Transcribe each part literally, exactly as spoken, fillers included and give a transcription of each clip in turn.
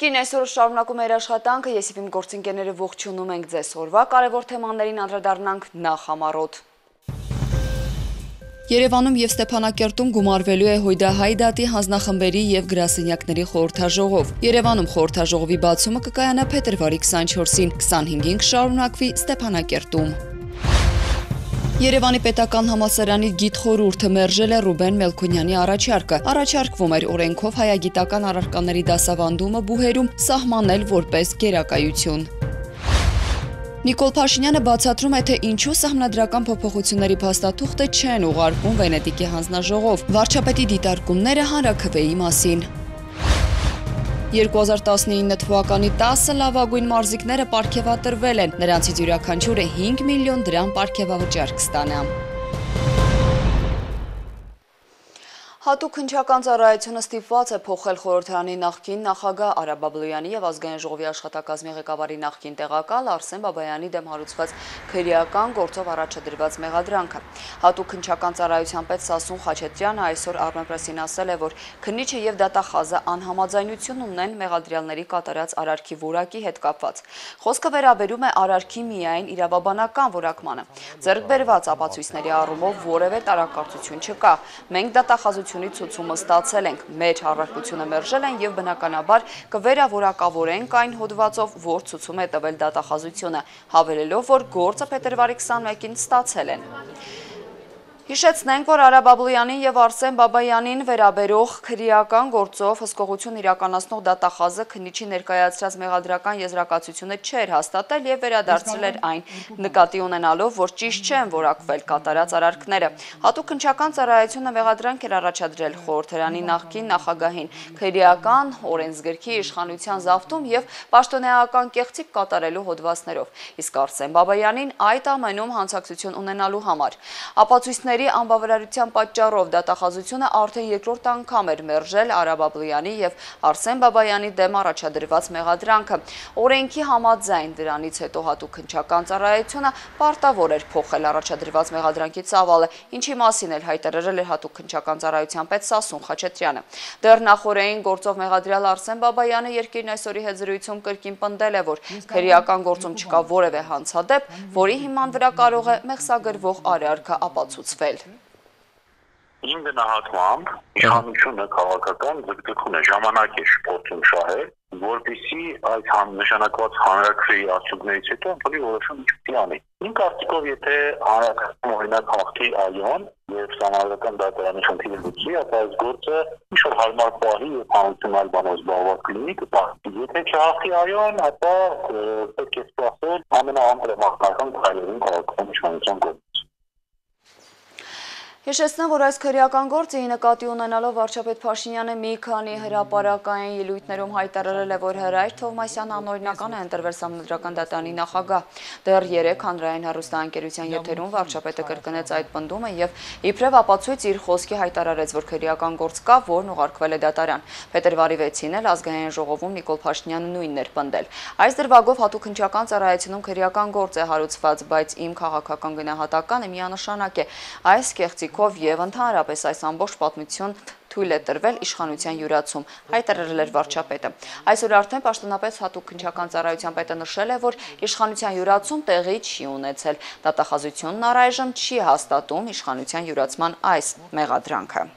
Երկիրն այսօր շարունակում է իր աշխատանքը, ես իմ գործընկերները ողջունում ենք ձեզ օրվա կարևոր թեմաներին անդրադառնանք նախ համառոտ։ Երևանում եւ Ստեփանակերտում գումարվելու է Հույդահայ դատի հանձնախմբերի եւ գրասենյակների խորհրդաժողով։ Երևանում խորհրդաժողովի բացումը կկայանա փետրվարի քսանչորսին, քսանհինգին կշարունակվի Ստեփանակերտում։ Երևանի պետական համալսարանի գիտխորհուրդը մերժել է Ռուբեն Մելքոնյանի առաջարկը։ Առաջարկվում էր օրենքով հայագիտական առարկաների դասավանդումը բուհերում սահմանել որպես գերակայություն։ Նիկոլ Փաշինյանը բացատրում է, թե ինչու սահմանադրական փոփոխությունների փաստաթուղթը չեն ուղարկվում Վենետիկի հանձնաժողով։ Վարչապետի դիտարկումները հանրաքվեի մասին։ երկու հազար տասնինը թվականի տասը լավագույն մարզիկները պարգևատրվել են, նրանցից յուրաքանչյուրը հինգ միլիոն դրամ պարգևավճար կստանա։ Հատուկ հնչական ծառայությունը ստիպված է փոխել խորհրդարանի նախկին նախագահ Արա Բաբլոյանի եւ ազգային ժողովի աշխատակազմի ղեկավարի նախկին տեղակալ Արսեն Բաբայանի դեմ հարուցված քրեական գործով առաջադրված մեղադրանքը։ Հատուկ հնչական ծառայության պետ Սասուն Խաչատրյանը այսօր Armenpress-ին ասել է, որ քննիչը եւ դատախազը անհամաձայնություն ունեն մեղադրյալների կատարած արարքի որակի հետ կապված։ Խոսքը վերաբերում է արարքի միայն իրավաբանական որակմանը։ Ձեռք բերված ապացույցների առումով որևէ տարակարծություն չկա։ Մենք դատախազություն ցուցումը ստացել ենք, մեր առարկությունը մերժել են եւ բնականաբար կվերավորակավորենք այն հոդվածով, որ ցուցում է տվել դատախազությունը, հավելելով, որ գործը փետրվարի քսանմեկին ստացել են։ Հիշեցնենք, որ Արա Բաբլոյանին եւ Արսեն Բաբայանին վերաբերող քրեական գործով հսկողություն իրականացնող դատախազը քննիչի ներկայացրած մեղադրական եզրակացությունը չէր հաստատել եւ վերադարձրել էր այն, նկատի ունենալով, որ ճիշտ չեն որակվել կատարած արարքները։ Հատուկ հնչական ծառայությունը մեղադրանք էր առաջադրել խորհրդարանի նախկին նախագահին քրեական օրենսգրքի իշխանության զավթում եւ պաշտոնեական կեղծիք կատարելու հոդվածներով, իսկ Արսեն Բաբայանին այդ ամենում հանցակցություն ունենալու համար։ Ապացույցների անբավարարության պատճառով դատախազությունը արդեն երկրորդ անգամ էր մերժել Արա Բաբլոյանի եւ Արսեն Բաբայանի դեմ առաջադրված մեղադրանքը։ Օրենքի համաձայն դրանից հետո հատուկ հնչական ծառայությունը պարտավոր էր փոխել առաջադրված մեղադրանքի ծավալը, ինչի մասին էլ հայտարարել էր հատուկ հնչական ծառայության պետ Սասուն Խաչատրյանը։ Դեռ նախորդային գործով մեղադրյալ Արսեն Բաբայանը Երկիրն այսօրի հետ զրույցում կրկին պնդել է, որ քրեական գործում չկա որևէ հանցադեպ, որի հիման վրա կարող է մեղսագրվող արարքը ապացուցվել։ Իմ գնահատմամբ իշխանությունը քաղաքական ձգտում է ժամանակ է փորձում շահել, որպեսզի այդ նշանակված հանրաքվեի արդյունքներից հետո ըմբռնի որոշում չպիտի անի։ Իմ կարծիքով, եթե հանրաքվեն օրինակ հաղթի այոն եւ համալսարան դատարանի խնդիրը լուծի, ապա այս գործը ինչ-որ հարմար պահի եւ հանրությունալ բանով զբաղված կլինի կպահի։ Եթե չհաղթի այոն, ապա պետք է սպասել ամենաանհրաժեշտ քայլերին քաղաքական իշխանության կողմից։ Հիշեցնեմ, որ այս քրեական գործը նկատի ունենալով վարչապետ Փաշինյանը մի քանի հրապարակային ելույթներում հայտարարել է, որ Հրայր Թովմասյանը անօրինական է ընտրվել Սահմանադրական դատարանի նախագահ։ Դեռ երեք հանրային հեռուստաընկերության եթերում վարչապետը կրկնեց այդ պնդումը եւ իբրև ապացույց իր խոսքի հայտարարեց, որ քրեական գործ կա, որն ուղարկվել է դատարան։ Փետրվարի վեցին էլ ազգային ժողովում Նիկոլ Փաշինյանը նույնն էր պնդել։ Այս դրվագով հատուկ հնչական ծառայությունում քրեական գործ է հարուցված, բայց իմ քաղաքական գնահատականը միանշանակ է։ Այս կեղծիք եւ ընդհանրապես այս ամբողջ պատմություն թույլ է տրվել իշխանության յուրացում, հայտարարել էր վարչապետը։ Այսօր արդեն պաշտոնապես հատուկ հնչական ծառայության պետը նշել է, որ իշխանության յուրացում տեղի չի ունեցել։ Դատախազությունն առայժմ չի հաստատում իշխանության յուրացման այս մեղադրանքը։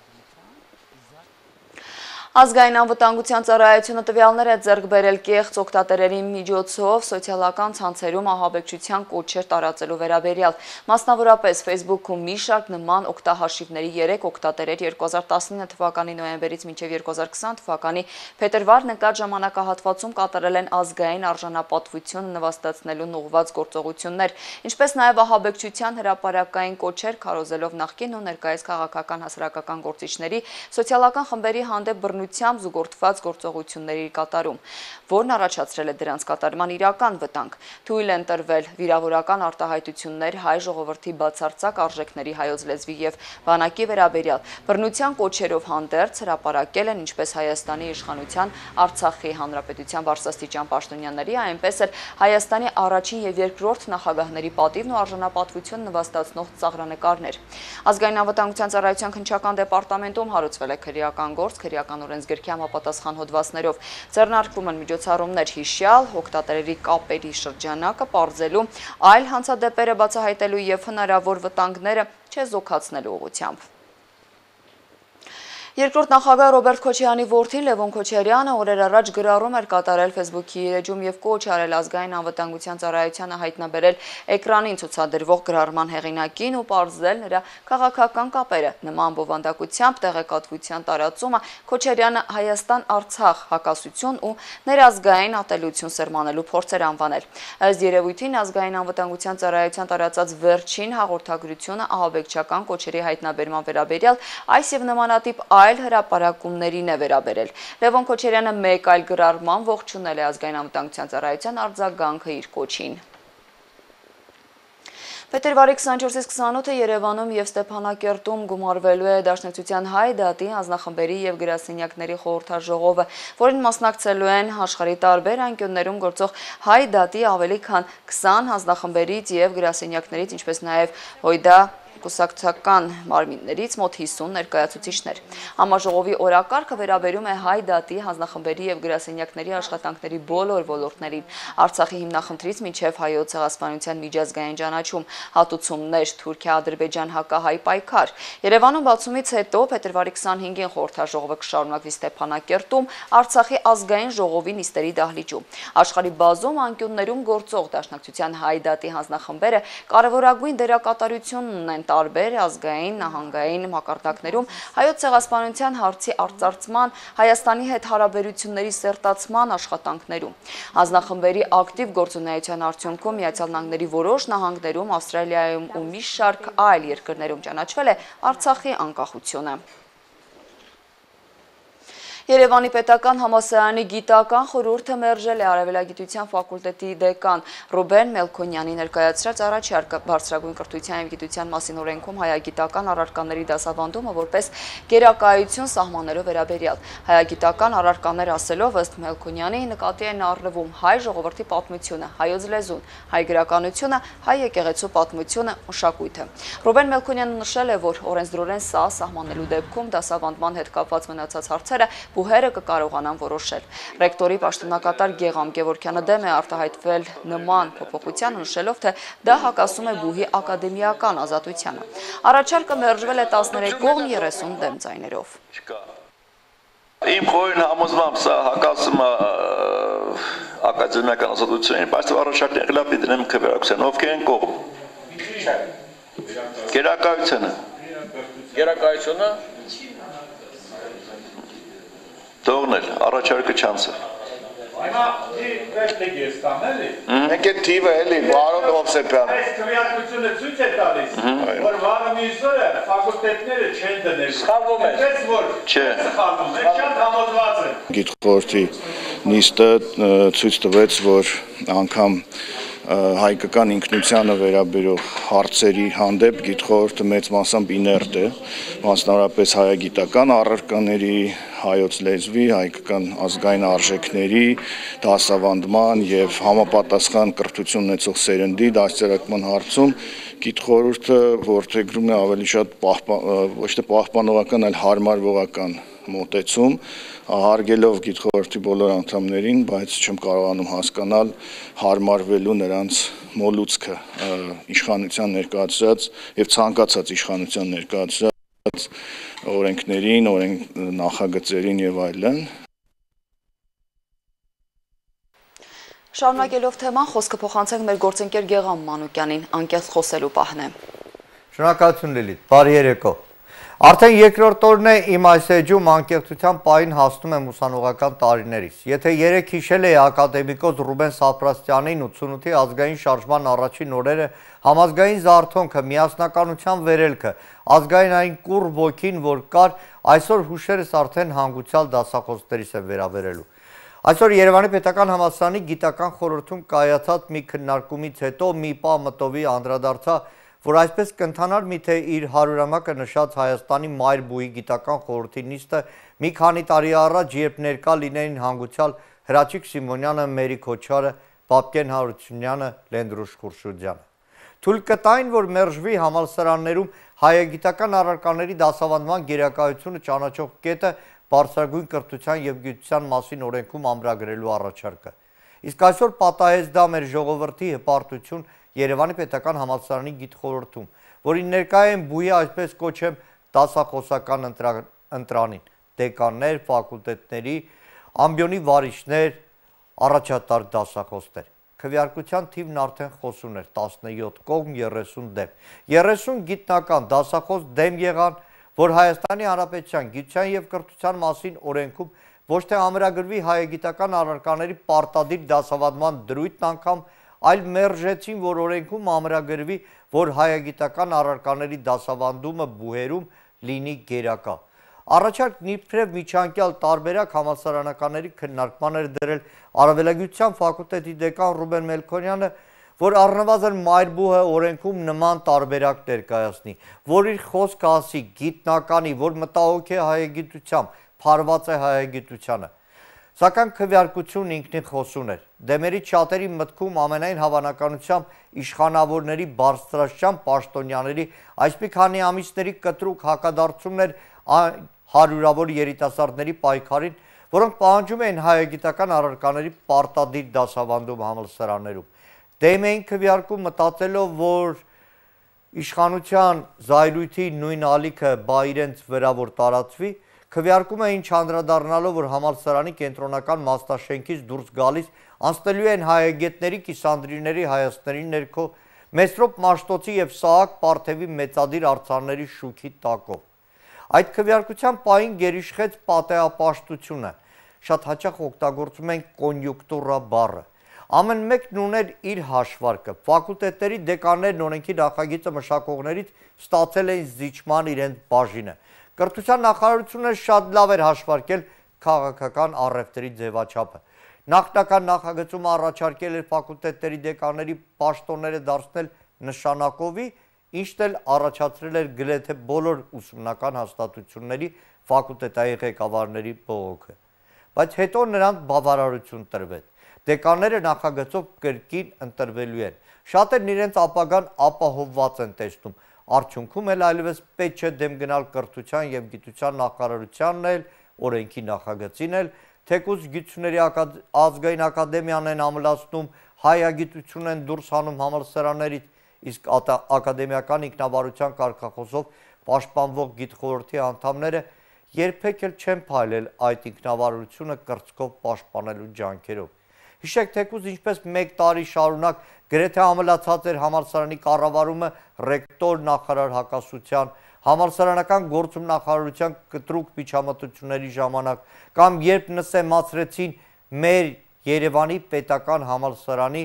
Ազգային անվտանգության ծառայությունը տվյալներ է ձեռք բերել կեղծ օգտատերերի միջոցով սոցիալական ցանցերում ահաբեկչության կոչեր տարածելու վերաբերյալ։ Մասնավորապես Facebook-ում մի շարք նման օգտահաշիվների երեք օգտատերեր երկու հազար տասնինը թվականի նոյեմբերից մինչև երկու հազար քսան թվականի փետրվար նկատ ժամանակահատվածում կատարել են ազգային արժանապատվություն նվաստացնելուն ուղղված գործողություններ, ինչպես նաև ահաբեկչության հրապարակային կոչեր քարոզելով նախկին ու ներկայիս քաղաքական հասարակական գործիչների սոցիալական խմբերի հանդեպ բռնություն զուգորդված գործողությունների կատարում, որն առաջացրել է դրանց կատարման իրական վտանգ։ Թույլ են տրվել վիրավորական արտահայտություններ հայ ժողովրդի բացարձակ արժեքների հայոց լեզվի եւ բանակի վերաբերյալ, բռնության կոչերով հանդերձ հրապարակել են ինչպես Հայաստանի իշխանության, Արցախի հանրապետության բարձրաստիճան պաշտոնյաների, այնպես էլ Հայաստանի առաջին եւ երկրորդ նախագահների պատիվն ու արժանապատվություն նվաստացնող ծաղրանկարներ։ Ազգային անվտանգության ծառայության քննչական դեպարտամենտում հարուցվել է քրեական գործ քրեական օրենսգրքի համապատասխան հոդվածներով։ Ձեռնարկվում են միջոցառումներ հիշյալ, օգտատերերի կապերի շրջանակը պարզելու, այլ հանցադեպերը բացահայտելու և հնարավոր վտանգները չեզոքացնելու ուղղությամբ։ Երկրորդ նախագահ Ռոբերտ Քոչարյանի որդին Լևոն Քոչարյանը օրեր առաջ գրառում էր կատարել Facebook-ի էջում և կոչ արել ազգային անվտանգության ծառայությանը հայտնաբերել էկրանին ցուցադրվող գրառման հեղինակին ու պարզել նրա քաղաքական կապերը։ Նման բովանդակությամբ տեղեկատվության տարածումը Քոչարյանը Հայաստան-Արցախ հակասություն ու ներազգային ատելություն սերմանելու փորձ էր անվանել։ Ըստ երևույթին ազգային անվտանգության ծառայության տարածած վերջին հաղորդագրությունը ահաբեկչական կոչերի հայտնաբերման վերաբերյալ այս և նմանատիպ այլ հրապարակումներին է վերաբերել։ Լևոն Քոչարյանը մեկ այլ գրառման ողջունել է ազգային անվտանգության ծառայության արձագանքը իր կոչին։ Փետրվարի քսանչորսից քսանութը Երևանում և Ստեփանակերտում գումարվելու է Դաշնակցության Հայ դատի հանձնախմբերի և գրասենյակների խորհրդաժողովը, որին մասնակցելու են աշխարհի տարբեր անկյուններում գործող Հայ դատի ավելի քան քսան հանձնախմբերից և գրասենյակներից, ինչպես նաև ՀՅԴ կուսակցական մարմիններից մոտ հիսուն ներկայացուցիչներ։ Համաժողովի օրակարգը վերաբերում է Հայ դատի հանձնախմբերի և գրասենյակների աշխատանքների բոլոր ոլորտներին, Արցախի հիմնախնդրից մինչև Հայոց ցեղասպանության միջազգային ճանաչում, հատուցումներ, Թուրքիա-Ադրբեջան հակահայ պայքար։ Երևանում բացումից հետո փետրվարի քսանհինգին խորհրդաժողովը կշարունակվի Ստեփանակերտում Արցախի ազգային ժողովի նիստերի դահլիճում։ Աշխարհի բազում անկյուններում գործող Դաշնակցության Հայ դատի հանձնախմբերը կարևորագույն դերակատարություն ունեն տարբեր ազգային, նահանգային մակարդակներում Հայոց ցեղասպանության հարցի արծարծման, Հայաստանի հետ հարաբերությունների սերտացման աշխատանքներում։ Հանձնախմբերի ակտիվ գործունեության արդյունքում Միացյալ Նահանգների որոշ նահանգներում, Ավստրալիայում ու մի շարք այլ երկրներում ճանաչվել է Արցախի անկախությունը։ Երևանի պետական համալսարանի գիտական խորհուրդը մերժել է արևելագիտության ֆակուլտետի դեկան Ռուբեն Մելքոնյանի ներկայացրած առաջարկը բարձրագույն կրթության և գիտության մասին օրենքում հայագիտական առարկաների դասավանդումը որպես գերակայություն սահմանելու վերաբերյալ։ Հայագիտական առարկաներ ասելով ըստ Մելքոնյանի նկատի են առնվում հայ ժողովրդի պատմությունը, հայոց լեզուն, հայ գրականությունը, հայ եկեղեցու պատմությունը, մշակույթը։ Ռուբեն Մելքոնյանը նշել է, որ օրենսդրորեն սա սահմանելու դեպքում դասավանդման հետ կապված մնացած հարցերը բուհերը կկարողանան որոշել։ Ռեկտորի պաշտոնակատար Գեգամ Գևորգյանը դեմ է արտահայտվել նման փոփոխությանը, նշելով, թե դա հակասում է բուհի ակադեմիական ազատությանը։ Առաջարկը մերժվել է տասներեք կողմ երեսուն դեմ ձայներով։ Իմ խորին համոզմամբ սա հակասում է ակադեմիական ազատությունին, բայց առաջարկները լավ դնեմ քվեարկության, ովքեր են կողմ։ Գերակայությունը։ Գերակայությունը Թողնել, առաջարկը չանցը։ Հիմա մի ռեպլիկ ես տամ, էլի։ Մենք այդ թիվը էլի, Վարոն Հովսեփյան։ Այս քվեարկությունը ցույց է տալիս, որ վաղը մյուսները ֆակուլտետները չեն դնել։ Սխալվում է։ Այդպես որ Չէ։ սխալվում է, շատ համոզված եմ։ Գիտխորհրդի նիստը ցույց տվեց, որ անգամ հայկական ինքնությանը վերաբերող հարցերի հանդեպ գիտխորհուրդը մեծ մասամբ իներտ է, մասնավորապես հայագիտական առարկաների, հայոց լեզվի, հայկական ազգային արժեքների դասավանդման եւ համապատասխան կրթություն ունեցող սերնդի դաստիարակման հարցում գիտխորհուրդը որդեգրում է ավելի շատ ոչ թե պահպանողական, այլ հարմարվողական մոտեցում, հարգելով գիտխորհրդի բոլոր անդամներին, բայց չեմ կարողանում հասկանալ հարմարվելու նրանց մոլուցքը իշխանության ներկայացրած եւ ցանկացած իշխանության ներկայացրած օրենքներին, օրենք նախագծերին եւ այլն։ Շարունակելով թեման, խոսքը փոխանցենք մեր գործընկեր Գեգամ Մանուկյանին, անկեղծ խոսելու պահն է։ Շնորհակալություն Լիլիթ, բարի երեկո։ Արդեն երկրորդ օրն է իմ այս էջում անկեղծության պահին հասնում եմ ուսանողական տարիներից։ Եթե երեք հիշել էի ակադեմիկոս Ռուբեն Սապրաստյանին ութսունութի ազգային շարժման առաջին օրերը, համազգային զարթոնքը, միասնականության վերելքը, ազգային այն կուռ ոգին, որ կար, այսօր հուշերս արդեն հանգուցյալ դասախոսներից է վերաբերելու։ Այսօր Երևանի պետական համալսարանի գիտական խորհրդում կայացած մի քննարկումից հետո մի պահ մտովի անդրադարձա, որ այսպես կընթանար միթե իր հարյուրամյակը նշած Հայաստանի մայր բուհի գիտական խորհրդի նիստը մի քանի տարի առաջ, երբ ներկա լինեին հանգուցյալ Հրաչիկ Սիմոնյանը, Մերի Քոչարը, Պապկեն Հարությունյանը, Լենդրուշ Խուրշուդյանը։ Թույլ կտային, որ մերժվի համալսարաններում հայագիտական առարկաների դասավանդման գերակայությունը ճանաչող կետը, բարձրագույն կրթության եւ գիտության մասին օրենքում ամրագրելու առաջարկը։ Իսկ այսօր պատահեց դա մեր ժողովրդի հպարտություն Երևանի պետական համալսարանի գիտխորհրդում, որին ներկայ են բույի այսպես կոչեմ դասախոսական ընտրանին, դեկաններ, ֆակուլտետների, ամբիոնի վարիչներ, առաջատար դասախոսներ։ Քվեարկության թիվն արդեն խոսուն էր տասնյոթ կողմ երեսուն դեմ։ երեսուն գիտնական դասախոս դեմ եղան, որ Հայաստանի Հանրապետության գիտության եւ կրթության մասին օրենքում ոչ թե ամրագրվի հայագիտական առարկաների պարտադիր դասավանդման դրույթն անգամ, այլ մերժեցին, որ օրենքում ամրագրվի, որ հայագիտական առարկաների դասավանդումը բուհերում լինի գերակա։ Առաջարկն իբրև միջանկյալ տարբերակ համալսարանականների քննարկման էր դրել Արևելագիտության ֆակուլտետի դեկան Ռուբեն Մելքոնյանը, որ առնվազն մայրբուհը օրենքում նման տարբերակ ներկայացնի, որ իր խոսքը ասի գիտնականի, որ մտահոգ է հայագիտությամբ, փարված է հայագիտությանը։ Սակայն քվեարկությունն ինքնին խոսուն էր։ Դեմերից շատերի մտքում ամենայն հավանականությամբ իշխանավորների բարձրաստիճան պաշտոնյաների այս մի քանի ամիսների կտրուկ հակադարձումն էր հարյուրավոր երիտասարդների պայքարին, որոնք պահանջում էին հայագիտական առարկաների պարտադիր դասավանդում համալսարաններում։ Դեմ էին քվեարկում մտածելով, որ իշխանության զայրույթի նույն ալիքը բա իրենց վրա որ տարածվի, քվեարկում էին չանդրադառնալով, որ համալսարանի կենտրոնական մասնաշենքից դուրս գալիս անցնելու են հայագետների, կիսանդրիների, հայացքների ներքո, Մեսրոպ Մաշտոցի եւ Սահակ Պարթևի մեծադիր արձանների շուքի տակով։ Այդ քվեարկության պահին գերիշխեց պատեհապաշտությունը, շատ հաճախ օգտագործում են կոնյուկտուրա բառը։ Ամեն մեկն ուներ իր հաշվարկը, ֆակուլտետների դեկաններն օրենքի նախագիծը մշակողներից ստացել էին զիջման իրենց բաժինը։ Կրթության նախարարությունը շատ լավ էր հաշվարկել քաղաքական առևտրի ձևաչափը։ Նախնական նախագծումը առաջարկել էր ֆակուլտետների դեկանների պաշտոնները դարձնել նշանակովի, ինչն էլ առաջացրել էր գրեթե բոլոր ուսումնական հաստատությունների ֆակուլտետային ղեկավարների բողոքը։ Բայց հետո նրանց բավարարություն տրվեց։ Դեկանները նախագծով կրկին ընտրվելու են։ Շատերն իրենց ապագան ապահովված են տեսնում։ Արդյունքում էլ այլևս պետք չէ դեմ գնալ կրթության եւ գիտության նախարարությանն էլ, օրենքի նախագծին էլ, թեկուզ գիտությունների ազգային ակադեմիան են ամլացնում, հայագիտություն են դուրս հանում համալսարաններից, իսկ ակադեմիական ինքնավարության կարգախոսով պաշտպանվող գիտխորհրդի անդամները երբեք էլ չեն փայլել այդ ինքնավարությունը կրծքով պաշտպանելու ջանքերով։ Հիշեք, թեկուզ ինչպես մեկ տարի շարունակ գրեթե ամլացած էր համալսարանի կառավարումը ռեկտոր նախարար հակասության, համալսարանական գործում նախարարության կտրուկ միջամտությունների ժամանակ, կամ երբ նսեմացրեցին մեր Երևանի պետական համալսարանի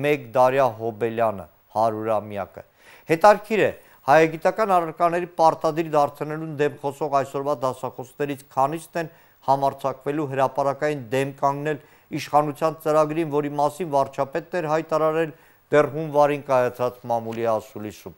մեկ դարյա հոբելյանը, հարյուրամյակը։ Հետարքիր է, հայագիտական առարկաների պարտադիր դարձնելուն դեմ խոսող այսօրվա դասախոսներից քանիսն են համարձակվելու հրապարակային դեմ կանգնել իշխանության ծրագրին, որի մասին վարչապետն էր հայտարարել դեռ հունվարին կայացած մամուլի ասուլիսում։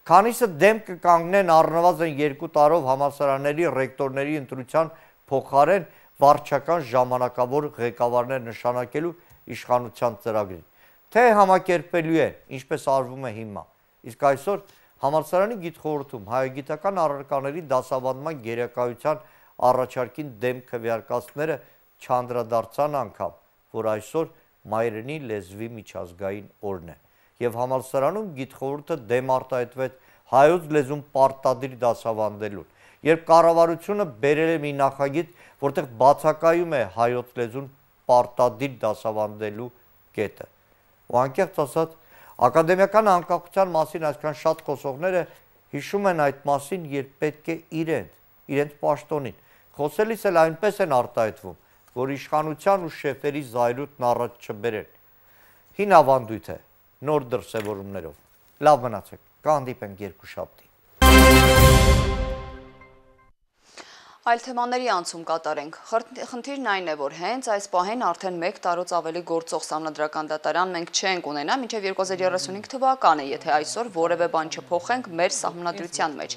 Քանիսը դեմ կկանգնեն առնվազն երկու տարով համալսարանների ռեկտորների ընտրության փոխարեն վարչական ժամանակավոր ղեկավարներ նշանակելու իշխանության ծրագրին, թե համակերպելու են, ինչպես արվում է հիմա։ Իսկ այսօր համալսարանի գիտխորհրդում հայագիտական առարկաների դասավանդման գերակայության առաջարկին դեմ քվեարկածները չանդրադարձան անգամ, որ այսօր մայրենի լեզվի միջազգային օրն է, եւ համալսարանում գիտխորհուրդը դեմ արտահայտվեց հայոց լեզուն պարտադիր դասավանդելուն, երբ կառավարությունը բերել է մի նախագիծ, որտեղ բացակայում է հայոց լեզուն պարտադիր դասավանդելու կետը։ Ու անկեղծ ասած, ակադեմիական անկախության մասին այսքան շատ խոսողները հիշում են այդ մասին, երբ պետք է իրենց, իրենց պաշտոնին խոսելիս էլ այնպես են արտահայտվում, որ իշխանության ու շեֆերի զայրույթն առաջ չբերեն։ Հին ավանդույթ է, նոր դրսևորումներով։ Լավ մնացեք, կհանդիպենք երկուշաբթի։ Այլ թեմաների անցում կատարենք։ Խնդիրն այն է, որ հենց այս պահին արդեն մեկ տարուց ավելի գործող Սահմանադրական դատարան մենք չենք ունենա մինչև երկու հազար երեսունհինգ թվականը, եթե այսօր որևէ բան չփոխենք մեր սահմանադրության մեջ։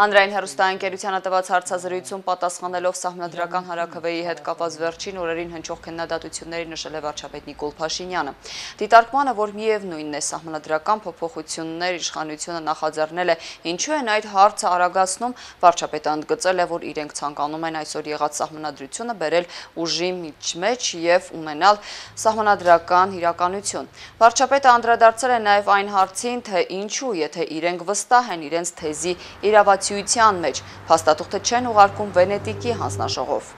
Հանրային հեռուստաընկերությանը տված հարցազրույցում պատասխանելով Սահմանադրական հանրաքվեի հետ կապված վերջին օրերին հնչող քննադատությունների նշել է վարչապետ Նիկոլ Փաշինյանը։ Դիտարկմանը, որ միևնույնն է սահմանադրական փոփոխություններ իշխանությունը նախաձեռնել է, ինչու են այդ հարցը արագացնում, վարչապետը ընդգծել է, որ իրենք ցանկանում են այսօր եղած սահմանադրությունը բերել ուժի միջմեջ եւ ունենալ սահմանադրական իրականություն։ Վարչապետը անդրադարձել է նաեւ այն հարցին, թե ինչու, եթե իրենք վստահ են իրենց թեզի իրավացիության մեջ, փաստաթուղթը չեն ուղարկում Վենետիկի հանձնաժողով։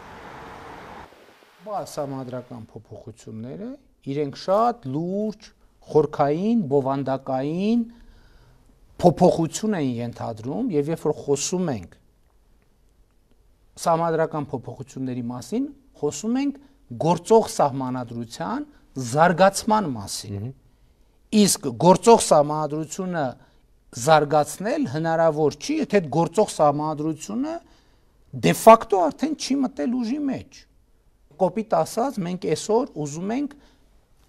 Սահմանադրական փոփոխությունները իրենք շատ լուրջ, խորքային, բովանդակային փոփոխություն են ենթադրում եւ երբ որ խոսում ենք սահմանադրական փոփոխությունների մասին, խոսում ենք գործող սահմանադրության զարգացման մասին։ Իսկ գործող սահմանադրությունը զարգացնել հնարավոր չի, եթե այդ գործող սահմանադրությունը դե ֆակտո արդեն չի մտել ուժի մեջ։ Կոպիտ ասած, մենք այսօր ուզում ենք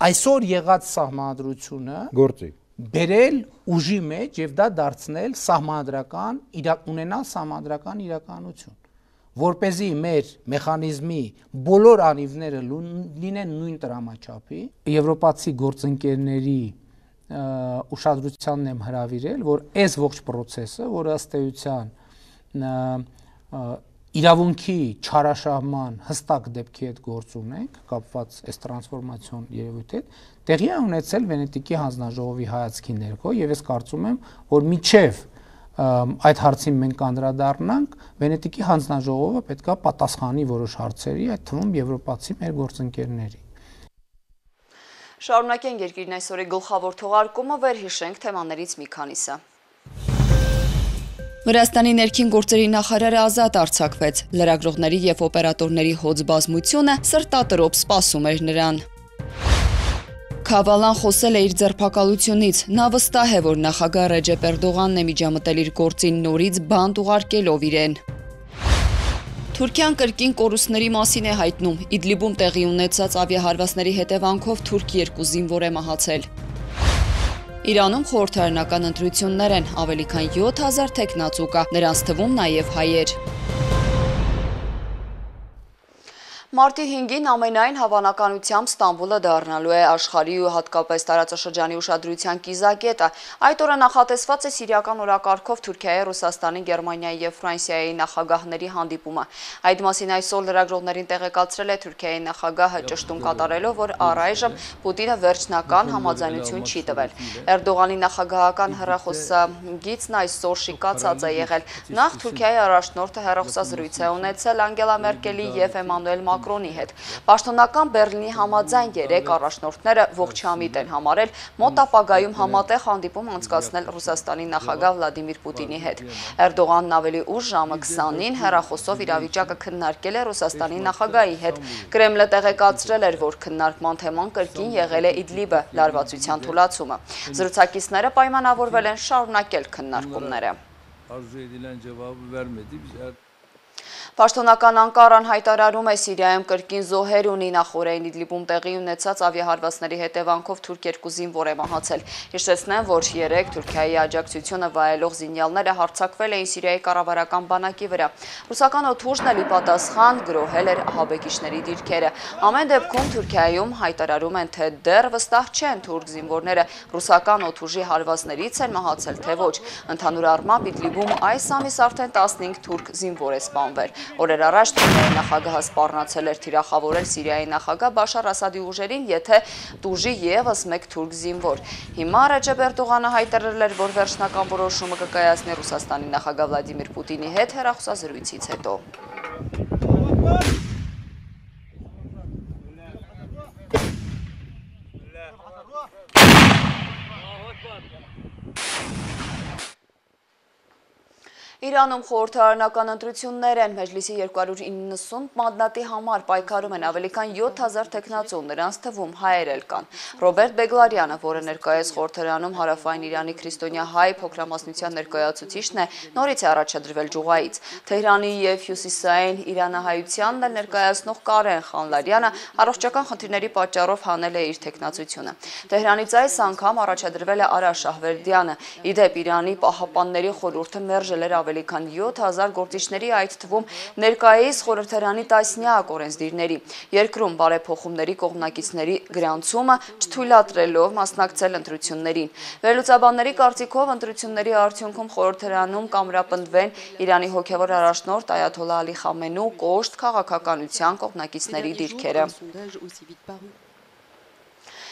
այսօր եղած սահմանադրությունը գործի բերել ուժի մեջ եւ դա դարձնել սահմանադրական ունենալ սահմանադրական իրականություն, որպեսզի մեր մեխանիզմի բոլոր անիվները լինեն նույն տրամաչափի։ Եվրոպացի գործընկերների ուշադրությանն եմ հրավիրել, որ այս ողջ process-ը, որը ըստ էության իրավունքի չարաշահման հստակ դեպքի հետ գործ ունենք, կապված այս տրանսֆորմացիոն երևույթի հետ, տեղի է ունեցել Վենետիկի հանձնաժողովի հայացքի ներքո, եւ ես կարծում եմ, որ մինչեւ այդ հարցին մենք անդրադառնանք, Վենետիկի հանձնաժողովը պետք է պատասխանի որոշ հարցերի, այդ թվում եվրոպացի մեր գործընկերների։ Շարունակենք երկիրն այսօրի գլխավոր թողարկումը, վերհիշենք թեմաներից մի քանիսը։ Վրաստանի ներքին գործերի նախարարը ազատ արձակվեց, լրագրողների եւ օպերատորների հոծ բազմությունը սրտատրոփ սպասում էր նրան։ Քավալան խոսել է իր ձերբակալությունից, նա վստահ է, որ նախագահ Ռեջեփ Էրդողանն է միջամտել իր գործին նորից բանտ ուղարկելով իրեն։ Թուրքիան կրկին կորուստների մասին է հայտնում, Իդլիբում տեղի ունեցած ավիահարվածների հետևանքով թուրք երկու զինվոր է մահացել։ Իրանում խորհրդարանական ընտրություններ են, ավելի քան յոթ հազար թեկնածու կա, նրանց թվում նաև հայեր։ Մարտի հինգին ամենայն հավանականությամբ Ստամբուլը դառնալու է աշխարհի ու հատկապես տարածաշրջանի ուշադրության կիզակետը։ Այդ օրը նախատեսված է սիրիական օրակարգով Թուրքիայի, Ռուսաստանի, Գերմանիայի եւ Ֆրանսիայի նախագահների հանդիպումը։ Այդ մասին այսօր լրագրողներին տեղեկացրել է Թուրքիայի նախագահը, ճշտում կատարելով, որ առայժմ Պուտինը վերջնական համաձայնություն չի տվել։ Էրդողանի նախագահական հեռախոսագիծն այսօր շիկացած է եղել։ Նախ Թուրքիայի առաջնորդը հեռախոսազրույց է ունեցել Անգելա Մերկելի եւ Էմանուել Մակրոնի հետ։ Պաշտոնական Բեռլինի համաձայն երեք առաջնորդները ողջամիտ են համարել մոտ ապագայում համատեղ հանդիպում անցկացնել Ռուսաստանի նախագահ Վլադիմիր Պուտինի հետ։ Էրդողանն ավելի ուշ ժամը քսանին հեռախոսով իրավիճակը քննարկել է Ռուսաստանի նախագահի հետ։ Կրեմլը տեղեկացրել էր, որ քննարկման թեման կրկին եղել է Իդլիբը, լարվածության թուլացումը։ Զրուցակիցները պայմանավորվել են շարունակել քննարկումները։ Պաշտոնական Անկարան հայտարարում է Սիրիայում կրկին զոհեր ունի, նախորդին Իդլիբում տեղի ունեցած ավիահարվածների հետևանքով թուրք երկու զինվոր է մահացել։ Հիշեցնեմ, որ երեք Թուրքիայի աջակցությունը վայելող զինյալները հարձակվել էին Սիրիայի կառավարական բանակի վրա։ Ռուսական օդուժն էլի պատասխան գրոհել էր ահաբեկիչների դիրքերը։ Ամեն դեպքում Թուրքիայում հայտարարում են, թե դեռ վստահ չեն թուրք զինվորները ռուսական օդուժի հարվածներից են մահացել, թե ոչ։ Ընդհանուր առմամբ Իդլիբում այս ամիս արդեն տասնհինգ թուրք զինվոր է սպանվել։ Օրեր առաջ Թուրքիայի նախագահը սպառնացել էր թիրախավորել Սիրիայի նախագահ Բաշար Ասադի ուժերին, եթե տուժի եւս մեկ թուրք զինվոր։ Հիմա Ռեջեփ Էրդողանը հայտարարել էր, որ վերջնական որոշումը կկայացնի Ռուսաստանի նախագահ Վլադիմիր Պուտինի հետ հեռախոսազրույցից հետո։ Իրանում խորհրդարանական ընտրություններ են, Մեջլիսի երկու հարյուր իննսուն մանդատի համար պայքարում են ավելի քան յոթ հազար թեկնածու, նրանց թվում հայեր էլ կան։ Ռոբերտ Բեգլարյանը, որը ներկայիս խորհրդարանում հարավային Իրանի քրիստոնյա հայ փոքրամասնության ներկայացուցիչն է, նորից է առաջադրվել Ջուղայից։ Թեհրանի եւ հյուսիսային իրանահայությանն էլ ներկայացնող Կարեն Խանլարյանը առողջական խնդիրների պատճառով հանել է իր թեկնածությունը։ Թեհրանից այս անգամ առաջադրվել է Արա Շահվերդյանը։ Ի դեպ, Իրանի պահապանների խորհուրդը մերժել էր ավելի քան յոթ հազար գործիչների, այդ թվում ներկայիս խորհրդարանի տասնյակ օրենսդիրների։ Երկրում բարեփոխումների կողմնակիցների գրանցումը չթույլատրելով մասնակցել ընտրություններին։ Վերլուծաբանների կարծիքով ընտրությունների արդյունքում խորհրդարանում կամրապնդվեն Իրանի հոգևոր առաջնորդ Այաթոլլահ Ալի Խամենու կոշտ քաղաքականության կողմնակիցների դիրքերը։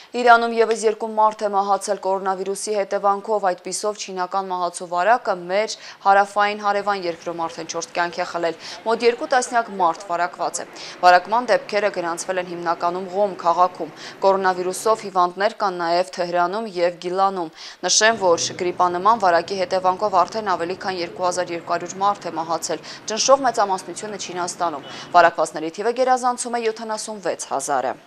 Իրանում ևս երկու մարդ է մահացել կորոնավիրուսի հետևանքով, այդպիսով չինական մահացու վարակը մեր հարավային հարևան երկրում արդեն չորս կյանք է խլել, մոտ երկու տասնյակ մարդ վարակված է։ Վարակման դեպքերը գրանցվել են հիմնականում Ղոմ քաղաքում։ Կորոնավիրուսով հիվանդներ կան նաև Թեհրանում և Գիլանում։ Նշեմ, որ գրիպանման վարակի հետևանքով արդեն ավելի քան երկու հազար երկու հարյուր մարդ է մահացել, ճնշող մեծամասնությունը Չինաստանում։ Վարակվածների թիվը գերազանցում է յոթանասունվեց հազարը։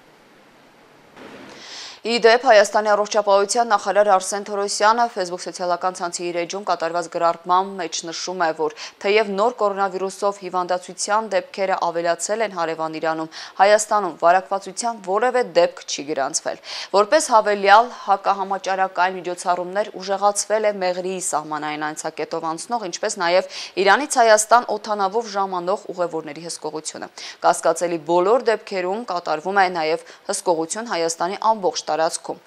Ի դեպ, Հայաստանի առողջապահության նախարար Արսեն Թորոսյանը Facebook սոցիալական ցանցի իր էջում կատարված գրառման մեջ նշում է, որ թեև նոր կորոնավիրուսով հիվանդացության դեպքերը ավելացել են հարևան Իրանում, Հայաստանում վարակվածության որևէ դեպք չի գրանցվել։ Որպես հավելյալ հակահամաճարակային միջոցառումներ ուժեղացվել է Մեղրիի սահմանային անցակետով անցնող, ինչպես նաև Իրանից Հայաստան օդանավով ժամանող ուղևորների հսկողությունը։ Կասկածելի բոլոր դեպքերում կատարվում է նաև հսկողություն Հայաստանի ամբողջ տարածքում։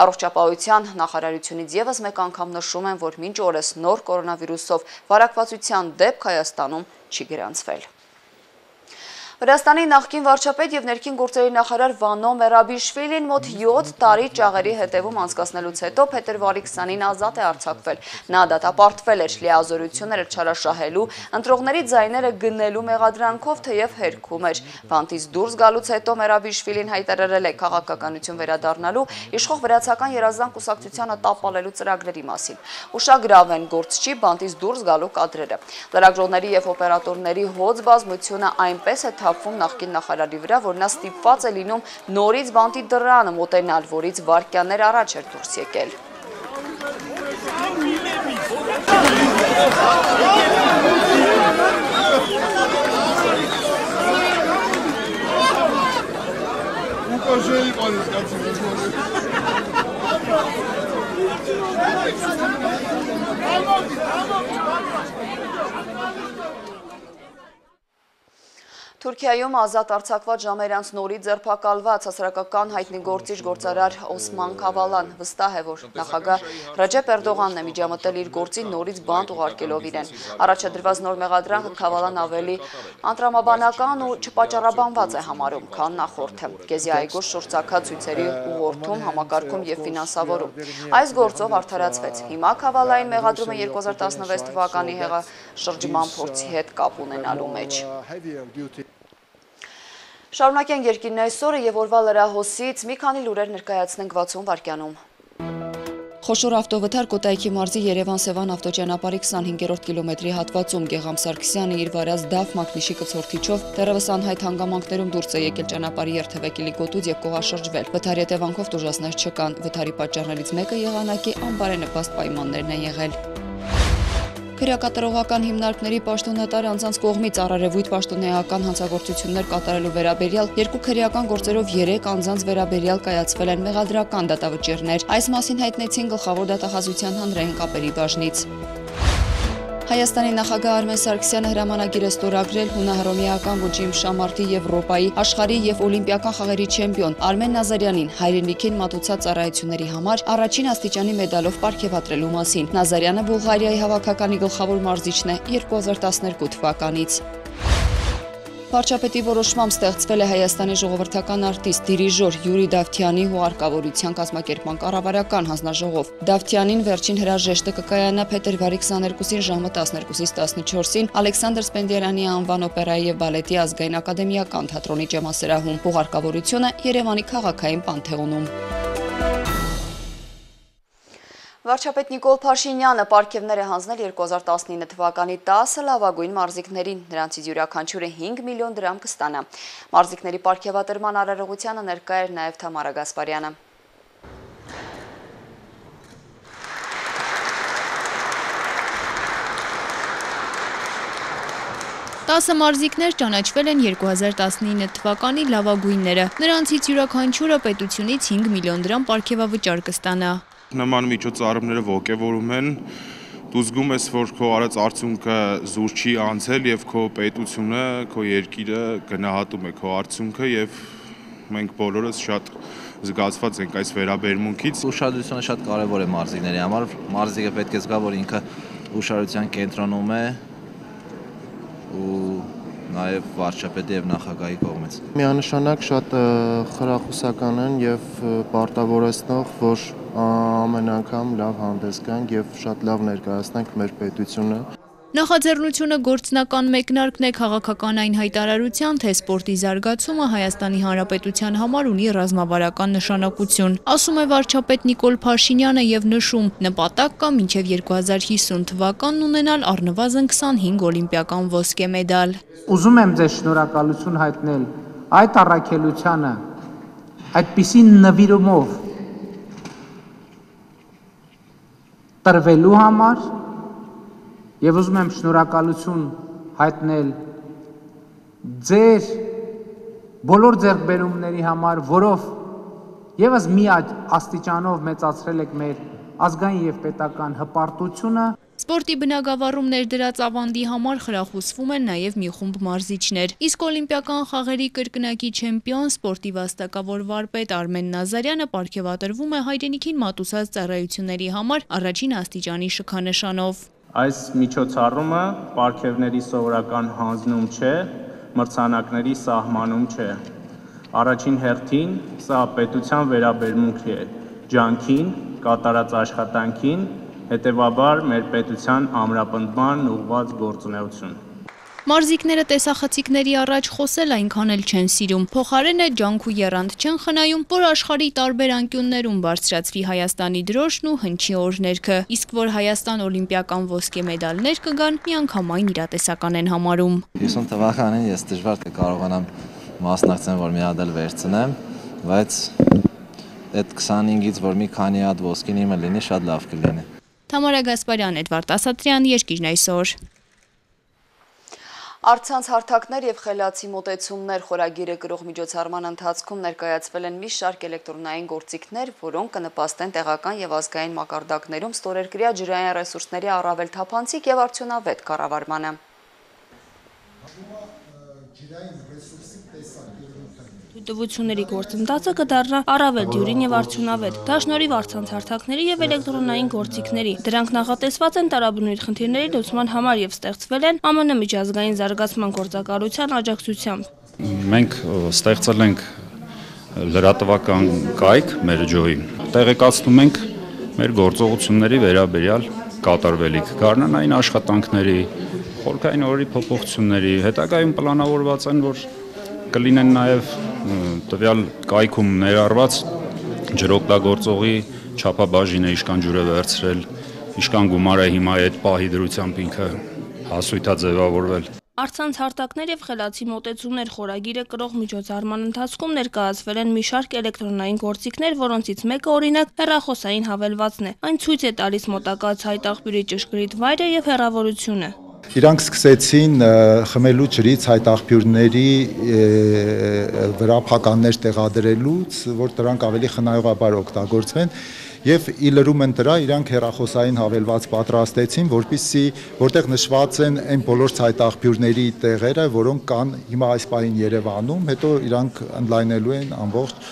Առողջապահության նախարարությունից ևս մեկ անգամ նշում են, որ մինչ օրս նոր կորոնավիրուսով վարակվածության դեպք Հայաստանում չի գրանցվել։ Վրաստանի նախկին վարչապետ և ներքին գործերի նախարար Վանո Մերաբիշվիլին մոտ յոթ տարի ճաղերի հետևում անցկացնելուց հետո փետրվարի քսանին ազատ է արձակվել։ Նա դատապարտվել էր լիազորությունները չարաշահելու, ընտրողների ձայները գնելու մեղադրանքով, թեև հերքում էր։ Բանտից դուրս գալուց հետո Մերաբիշվիլին հայտարարել է քաղաքականություն վերադառնալու, իշխող վրացական երազանք կուսակցությանը տապալելու ծրագրերի մասին։ Ուշագրավ են գործչի բանտից դուրս գալու կադրերը։ Լրագրողների և օպերատորների հոծ բազմությունը այնպես է թափվում նախկին նախարարի վրա, որ նա ստիպված է լինում նորից բանտի դռանը մոտենալ, որից վայրկյաններ առաջ էր դուրս եկել։ Թուրքիայում ազատ արձակված ժամերից նորից ձերբակալված հասարակական հայտնի գործիչ գործարար Օսման Քավալան վստահ է, որ նախագահ Ռաջեփ Էրդողանն է միջամտել իր գործին նորից բանտ ուղարկելով իրեն։ Առաջադրված նոր մեղադրանքը Քավալան ավելի անտրամաբանական ու չպատճառաբանված է համարում, քան նախորդը։ Գեզի այգու շրջակա ցույցերի ուղղորդում, համակարգում և ֆինանսավորում։ Այս գործով արդարացվեց։ Հիմա Քավալային մեղադրումը երկու հազար տասնվեց թվականի հեղաշրջման փորձի հետ կապ ունենալու մեջ։ Շարունակենք երկիրն այսօրը և օրվա լրահոսից մի քանի լուրեր ներկայացնենք վաթսուն վայրկյանում։ Խոշոր ավտովթար Կոտայքի մարզի Երևան-Սևան ավտոճանապարհի քսանհինգերորդ կիլոմետրի հատվածում Գեգամ Սարգսյանը իր վարած դավ մակնիշի կցորդիչով դեռևս անհայտ հանգամանքներում դուրս է եկել ճանապարհի երթևեկիլի գոտուց և կողաշրջվել։ Վթարի հետևանքով տուժածներ չկան։ Վթարի պատճառներից մեկը եղանակի անբարենպաստ պայմաններն են եղել։ Քրեակատարողական հիմնարկների պաշտոնատար անձանց կողմից առերևույթ պաշտոնեական հանցագործություններ կատարելու վերաբերյալ երկու քրեական գործերով երեք անձանց վերաբերյալ կայացվել են մեղադրական դատավճիռներ։ Այս մասին հայտնեցին Գլխավոր դատախազության հանրային կապերի բաժնից։ Հայաստանի նախագահ Արմեն Սարգսյանը հրամանագիր է ստորագրել հունահռոմեական ոճի իմշամարտի Եվրոպայի, աշխարհի և օլիմպիական խաղերի չեմպիոն Արմեն Նազարյանին հայրենիքին մատուցած ծառայությունների համար առաջին աստիճանի մեդալով պարգևատրելու մասին։ Նազարյանը Բուլղարիայի հավաքականի գլխավոր մարզիչն է երկու հազար տասներկու թվականից։ Վարչապետի որոշմամբ ստեղծվել է Հայաստանի ժողովրդական արտիստ, դիրիժոր Յուրի Դավթյանի հուղարկավորության կազմակերպման կառավարական հանձնաժողով։ Դավթյանին վերջին հրաժեշտը կկայանա փետրվարի քսաներկուսին ժամը տասներկուսից տասնչորսին Ալեքսանդր Սպենդիարյանի անվան օպերայի և բալետի ազգային ակադեմիական թատրոնի ջեմասրահում։ Հուղարկավորությունը Երևանի քաղաքային Պանթեոնում։ Վարչապետ Նիկոլ Փաշինյանը պարգևներ է հանձնել երկու հազար տասնինը թվականի տասը լավագույն մարզիկներին, նրանցից յուրաքանչյուրը հինգ միլիոն դրամ կստանա։ Մարզիկների պարգևատրման արարողությանը ներկա էր նաև Թամարա Գասպարյանը։ տասը մարզիկներ ճանաչվել են երկու հազար տասնինը թվականի լավագույնները, նրանցից յուրաքանչյուրը պետությունից հինգ միլիոն դրամ պարգևավճար կստանա։ Նման միջոցառումները ոգևորում են դու զգում ես, որ քո արած արդյունքը զուր չի անցել եւ քո պետությունը, քո երկիրը գնահատում է քո արդյունքը եւ մենք բոլորս շատ զգացված ենք այս վերաբերմունքից։ Ուշադրությունը շատ կարևոր է մարզիկների համար, մարզիկը պետք է զգա, որ ինքը ուշադրության կենտրոնում է ու նաև վարչապետի եւ նախագահի կողմից։ Միանշանակ շատ խրախուսական են եւ պարտավորեցնող, որ ամեն անգամ լավ հանդես գանք եւ շատ լավ ներկայացնենք մեր պետությունը։ Նախաձեռնությունը գործնական մեկնարկն է քաղաքական այն հայտարարության, թե սպորտի զարգացումը Հայաստանի Հանրապետության համար ունի ռազմավարական նշանակություն, ասում է վարչապետ Նիկոլ Փաշինյանը եւ նշում, նպատակ կա մինչեւ երկու հազար հիսուն թվականն ունենալ առնվազն քսանհինգ օլիմպիական ոսկե մեդալ։ Ուզում եմ ձեզ շնորհակալություն հայտնել այդ առաքելությանը, այդպիսի նվիրումով տրվելու համար եւ ուզում եմ շնորհակալություն հայտնել ձեր բոլոր ձեռքբերումների համար, որով եւս մի աստիճանով մեծացրել եք մեր ազգային եւ պետական հպարտությունը։ Սպորտի բնագավառում ներդրած ավանդի համար խրախուսվում են նաև մի խումբ մարզիչներ։ Իսկ օլիմպիական խաղերի կրկնակի չեմպիոն սպորտի վաստակավոր վարպետ Արմեն Նազարյանը պարգևատրվում է հայրենիքին մատուցած ծառայությունների համար առաջին աստիճանի շքանշանով։ Այս միջոցառումը պարգևների սովորական հանձնում չէ, մրցանակների սահմանում չէ։ Առաջին հերթին սա պետության վերաբերմունք է ջանքին, կատարած աշխատանքին, հետևաբար մեր պետության ամրապնդման ուղղված գործունեություն։ Մարզիկները տեսախցիկների առաջ խոսել այնքան էլ չեն սիրում, փոխարենը ջանք ու եռանդ չեն խնայում, որ աշխարհի տարբեր անկյուններում բարձրացվի Հայաստանի դրոշն ու հնչի օրհներգը, իսկ որ Հայաստան օլիմպիական ոսկե մեդալներ կգան, միանգամայն իրատեսական են համարում։ հիսուն թվականին ես դժվար կկարողանամ մասնակցեմ, որ մի հատ էլ վերցնեմ, բայց այդ քսանհինգից որ մի քանի հատ ոսկին իմը լինի, շատ լավ կլինի։ Թամարա Գասպարյան, Էդվարդ Ասատրյան, Երկիրն այսօր։ Առցանց հարթակներ եւ խելացի մոտեցումներ խորագիրը կրող միջոցառման ընթացքում ներկայացվել են մի շարք էլեկտրոնային գործիքներ, որոնք կնպաստեն տեղական եւ ազգային մակարդակներում ստորերկրյա ջրային ռեսուրսների առավել թափանցիկ եւ արդյունավետ կառավարմանը։ Թույլտվությունների գործընթացը կդառնա առավել դյուրին եւ արդյունավետ, դա շնորհիվ առցանց հարթակների եւ էլեկտրոնային գործիքների։ Դրանք նախատեսված են տարաբնույթ խնդիրների լուծման համար եւ ստեղծվել են ԱՄՆ միջազգային զարգացման գործակալության աջակցությամբ։ Մենք ստեղծել ենք լրատվական կայք մեր ջոյին։ Տեղեկացնում ենք մեր գործողությունների վերաբերյալ կատարվելիք, գարնանային աշխատանքների, խորքային օրերի փոփոխությունների, հետագայում պլանավորված են, որ կլինեն նաև տվյալ կայքում ներառված ջրօգտագործողի չափաբաժինը ինչքան ջուր է վերցրել, ինչքան գումար է հիմա այդ պահի դրությամբ ինքը հասույթ է ձևավորվել։ Առցանց հարթակներ եւ խելացի մոտեցումներ խորագիրը կրող միջոցառման ընթացքում ներկայացվել են մի շարք էլեկտրոնային գործիքներ, որոնցից մեկը օրինակ հեռախոսային հավելվածն է։ Այն ցույց է տալիս մոտակա ցայտաղբյուրի ճշգրիտ վայրը եւ հեռավորությունը։ Իրանք սկսեցին խմելու ջրից հայտաղբյուրների վրա փականներ տեղադրելուց, որ դրանք ավելի խնայողաբար օգտագործվեն եւ ի լրում են դրա իրանք հեռախոսային հավելված պատրաստեցին, որպեսզի որտեղ նշված են այն բոլոր հայտաղբյուրների տեղերը, որոնք կան հիմա այս պահին Երևանում, հետո իրանք ընդլայնելու են ամբողջ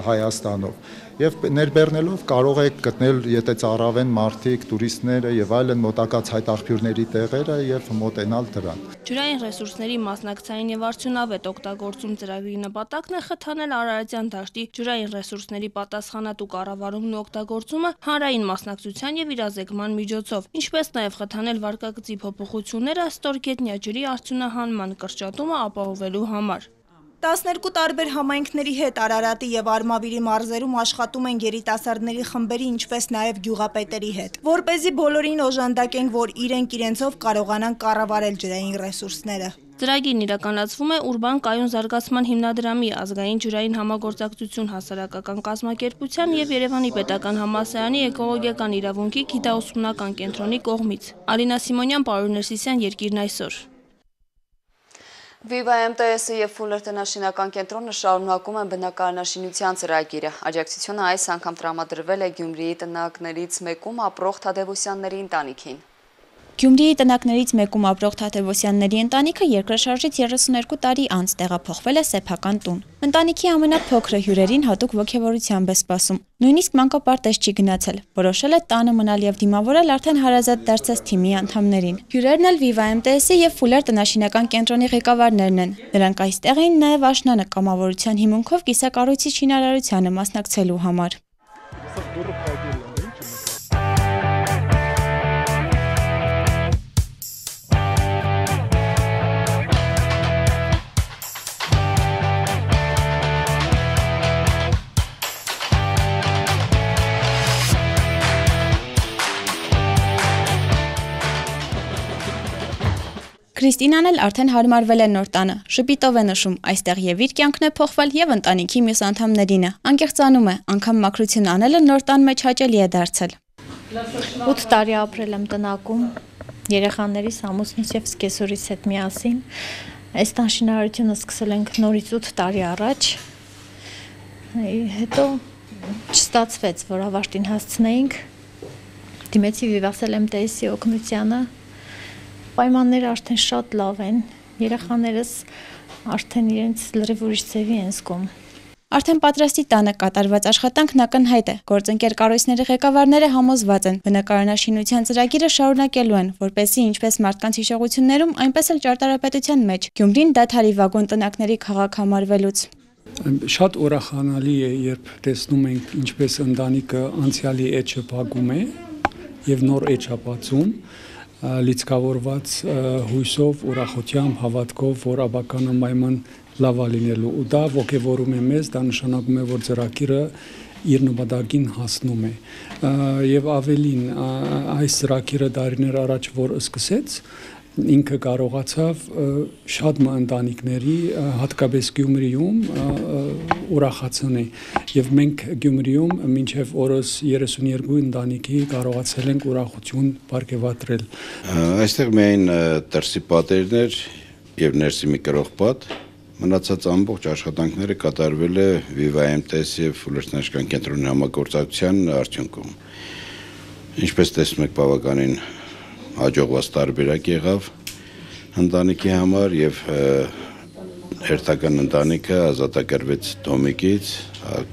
Հայաստանով։ Եվ ներբեռնելով կարող եք գտնել, եթե ծառավեն մարդիկ, տուրիստները եւ այլն մոտակա հայտաղբյուրների տեղերը եւ մոտենալ դրան։ Ջրային ռեսուրսների մասնակցային եւ արդյունավետ օգտագործում ծրագրի նպատակն է խթանել Արարատյան դաշտի ջրային ռեսուրսների պատասխանատու կառավարումն ու օգտագործումը հանրային մասնակցության եւ իրազեկման միջոցով, ինչպես նաեւ խթանել վարկագծի փոփոխությունները ստորգետնյա ջրի արդյունահանման կրճատումը ապահովելու համար։ տասներկու տարբեր համայնքների հետ Արարատի եւ Արմավիրի մարզերում աշխատում են երիտասարդների խմբերի, ինչպես նաեւ գյուղապետերի հետ, որպեսզի բոլորին օժանդակեն, որ իրենք իրենցով կարողանան կառավարել ջրային ռեսուրսները։ Ծրագիրն իրականացվում է Ուրբան կայուն զարգացման հիմնադրամի, ազգային ջրային համագործակցություն հասարակական կազմակերպության եւ Երևանի պետական համալսարանի էկոլոգիական իրավունքի գիտաուսումնական կենտրոնի կողմից։ Ալինա Սիմոնյան, Պարուհ Ներսիսյան, Երկիրն այսօր։ Viva M T S-ը եւ Fuller տնաշինական կենտրոնը շարունակում են բնակարանաշինության ծրագիրը։ Աջակցությունը այս անգամ տրամադրվել է Գյումրիի տնակներից մեկում ապրող Թադևոսյանների ընտանիքին։ Գյումրիի տնակներից մեկում ապրող Թադևոսյանների ընտանիքը երկրաշարժից երեսուներկու տարի անց տեղափոխվել է սեփական տուն։ Ընտանիքի ամենափոքրը հյուրերին հատուկ ոգևորությամբ է սպասում։ Նույնիսկ մանկապարտեզ չի գնացել, որոշել է տանը մնալ եւ դիմավորել արդեն հարազատ դարձած թիմի անդամներին։ Հյուրերն էլ Viva M T S-ի եւ Fuller տնաշինական կենտրոնի ղեկավարներն են։ Նրանք այստեղ էին նաեւ աշնանը կամավորության հիմունքով կիսակառույցի շինարարությանը մասնակցելու համար։ Քրիստինան էլ արդեն հարմարվել է նոր տանը, շպիտով է նշում, այստեղ եւ իր կյանքն է փոխվել եւ ընտանիքի մյուս անդամներինը։ Անկեղծանում է, անգամ մաքրություն անելը նոր տան մեջ հաճելի է դարձել։ ութ տարի ապրել եմ տնակում, երեխաներիս, ամուսնուս եւ սկեսորիս հետ միասին։ Այս տան շինարարությունը սկսել ենք նորից ութ տարի առաջ։ Հետո չստացվեց, որ ավարտին հասցնեինք։ Դիմեցի Viva M T S-ի օգնությանը։ Պայմանները արդեն շատ լավ են, երեխաներս արդեն իրենց լրիվ ուրիշ ձևի են զգում։ Արդեն պատրաստի տանը կատարված աշխատանքն ակնհայտ է։ Գործընկեր կառույցների ղեկավարները համոզված են, բնակարանաշինության ծրագիրը շարունակելու են, որպեսզի ինչպես մարդկանց հիշողություններում, այնպես էլ ճարտարապետության մեջ Գյումրին դադարի վագոն տնակների քաղաք համարվելուց։ Շատ ուրախանալի է, երբ տեսնում ենք, ինչպես ընտանիքը անցյալի էջը փակում է եւ նոր էջ է բացում, լիցքավորված հույսով, ուրախությամբ, հավատքով, որ աբականամայման լավ է լինելու ու դա ոգևորում է մեզ, դա նշանակում է, որ ծրագիրը իր նպատակին հասնում է եւ ավելին այս ծրագիրը դարիներ առաջ որ սկսեց ինքը կարողացավ շատ ընտանիքների հատկապես Գյումրիում ուրախացնել եւ մենք Գյումրիում մինչեւ օրս երեսուներկու ընտանիքի կարողացել ենք ուրախություն բարգեւատրել։ Այստեղ միայն դրսի պատերներ եւ ներսի մի կրող պատ մնացած ամբողջ աշխատանքները կատարվել է Viva M T S-ի եւ Fuller տնաշինական կենտրոնի համագործակցության արդյունքում։ Ինչպես տեսնում եք, բավականին հաջողված տարբերակ եղավ ընտանիքի համար եւ հերթական ընտանիքը ազատագրվեց Դոմիկից,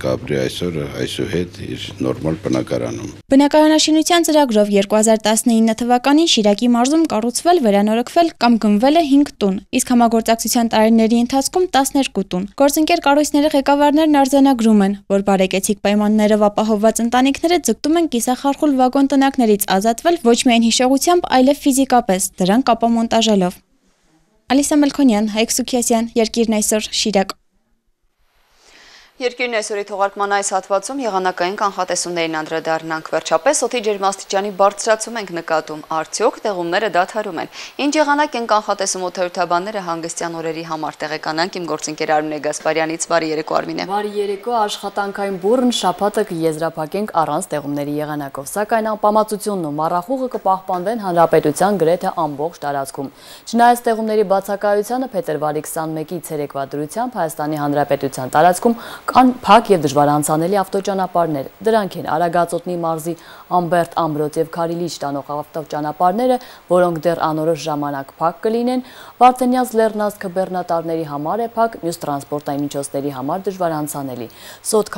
կապրի այսօր այսուհետ իր նորմալ բնակարանում։ Բնակարանաշինության ծրագրով երկու հազար տասնինը թվականին Շիրակի մարզում կառուցվել, վերանորոգվել կամ գնվել է հինգ տուն, իսկ համագործակցության տարիների ընթացքում տասներկու տուն։ Գործընկեր կառույցների ղեկավարներն արձանագրում են, որ բարեկեցիկ պայմաններով ապահովված ընտանիքները ձգտում են կիսախարխուլ վագոն տնակներից ազատվել ոչ միայն հիշողությամբ, այլև ֆիզիկապես, դրանք ապամոնտաժելով։ Ալիսա Մելքոնյան, Հայկ Սուքիասյան, Երկիրն այսօր, Շիրակ։ Երկիրն այսօրի թողարկման այս հատվածում եղանակային կանխատեսումներին անդրադառնանք։ Վերջապես օդի ջերմաստիճանի բարձրացում ենք նկատում, արդյոք տեղումները դադարում են։ Ինչ եղանակ են կանխատեսում օդաչուները հանգստյան օրերի համար, տեղեկանանք իմ գործընկեր Արմինե Գասպարյանից։ Բարի երեկո, Արմինե։ Բարի երեկո, աշխատանքային բուռն շաբաթը կեզրափակենք առանց տեղումների եղանակով, սակայն անպամացությունն ու մառախուղը կպահպանվեն հանրապետության գրեթե ամբողջ տարածքում։ Չնայած տեղումների բացակայությանը փետրվարի քսանմեկից ցերեկվա դրությամբ Հայաստանի Հանրապետության տարածքում կան փակ եւ դժվար անցանելի ավտոճանապարհներ։ Դրանք են Արագածոտնի մարզի Ամբերտ, Ամրոց եւ Քարիլիչ տանող ավտոճանապարհները, որոնք դեռ անորոշ ժամանակ փակ կլինեն, Վարդենյաց Լեռնանց քբեռնատարների համար է փակ, մյուս տրանսպորտային միջոցների համար դժվար անցանելի։ Սոտ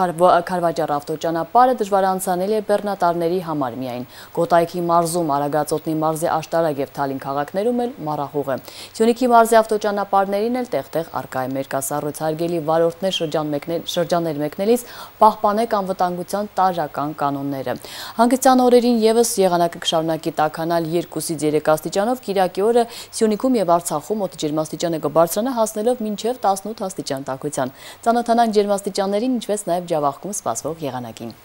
Քարվաճառ ավտոճանապարհը դժվար անցանելի է բեռնատարների համար միայն։ Կոտայքի մարզում, Արագածոտնի մարզի Աշտարակ եւ Թալին քաղաքներում էլ մառախուղ է։ Սյունիքի մարզի ավտոճանապարհներին էլ տեղ-տեղ արկա է մերկասառույց, հարգելի վարորդներ շրջան մեկնել շրջաններ մեկնելիս պահպանեք անվտանգության տարրական կանոնները։ Հանգստյան օրերին եւս եղանակը կշարունակի տաքանալ երկուսից երեք աստիճանով, Կիրակի օրը Սյունիքում եւ Արցախում օդի ջերմաստիճանը կբարձրանա հասնելով մինչեւ տասնութ աստիճան տաքության։ Ծանոթանանք ջերմաստիճաններին, ինչպես նաեւ Ջավախքում սպասվող եղանակին։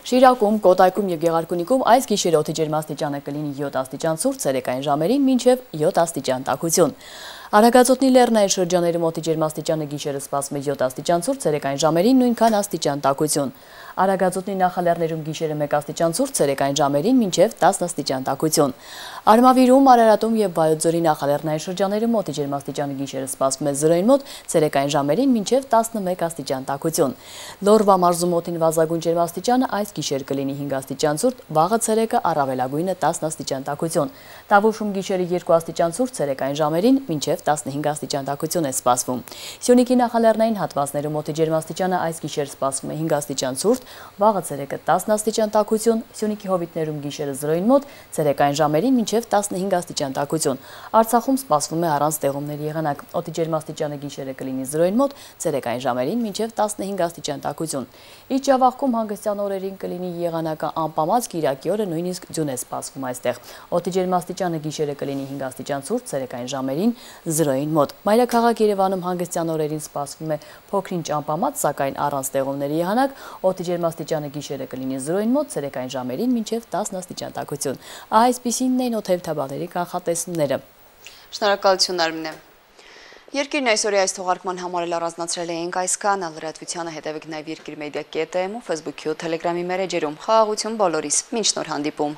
Շիրակում, Կոտայքում եւ Գեղարքունիքում այս գիշերը օդի ջերմաստիճանը կլինի յոթ աստիճան ցուրտ, ցերեկային ժամերին մինչեւ յոթ աստիճան տաքություն։ Արագածոտնի լեռնային շրջանների մոտի ջերմաստիճանը գիշերը սպասվում է յոթ աստիճան ցուրտ, ցերեկային ժամերին նույնքան աստիճան տաքություն։ Արագածոտնի նախալեռներում գիշերը մեկ աստիճան ցուրտ, ցերեկային ժամերին մինչև տասն աստիճան տաքություն։ Արմավիրում, Արարատում եւ Վայոց-Ձորի նախալեռնային շրջաններում մոտի ջերմաստիճանը գիշերը սպասվում է զրոյին մոտ, ցերեկային ժամերին մինչև տասնմեկ աստիճան տաքություն։ Լորվա մարզում մոտին վազագույն ջերմաստիճանը այս գիշեր կլինի հինգ աստիճան ցուրտ, վաղը ցերեկը առավելագույնը տասն աստիճան տաքություն։ Տավուշում գիշերը երկու աստիճան ցուրտ, ցերեկային ժամերին մինչև տասնհինգ աստիճան տաքություն է սպասվում։ Սյունիքի նախալեռնային հատվածներում մոտի ջերմաստիճանը այս գիշեր սպասվում է հինգ աստիճան ցուրտ, վաղը ցերեկը տասն աստիճան տաքություն, Սյունիքի հովիտներում գիշերը զրոյին մոտ, ցերեկային ժամերին մինչև տասնհինգ աստիճան տաքություն։ Արցախում սպասվում է առանց տեղումների եղանակ։ Օդի ջերմաստիճանը գիշերը կլինի զրոյին մոտ, ցերեկային ժամերին մինչև տասնհինգ աստիճան տաքություն։ Իջավաղքում հանգստյան օրերին կլինի եղանակը անպամած, Կիրակի օրը նույնիսկ ձյուն է սպասվում այստեղ։ Օդի ջերմաստիճանը գիշերը կլինի հինգ աստիճան ցուրտ, ցերեկային ժամերին զրոյին մոտ։ Մայրաքաղաք Երևանում հանգստյան օրերին սպասվում է փոքրինչ անպամած, սակայն առանց տեղումների եղանակ, օդի ջերմաստիճանը գիշերը կլինի զրոյին մոտ, ցերեկային ժամերին մինչև տասն աստիճան տաքություն։ Այսպիսինն էին օդերթաբաների կանխատեսումները։ Շնորհակալություն Արմինե։ Երկիրն այսօրի այս թողարկման համար էլ առանձնացրել էինք այսքանը, լրատվությանը հետևեք նաև Երկիր մեդիա կետ էմ ու Facebook-ի ու Telegram-ի մերեջերում։ Խաղաղություն բոլորիս, մինչ նոր հանդիպում։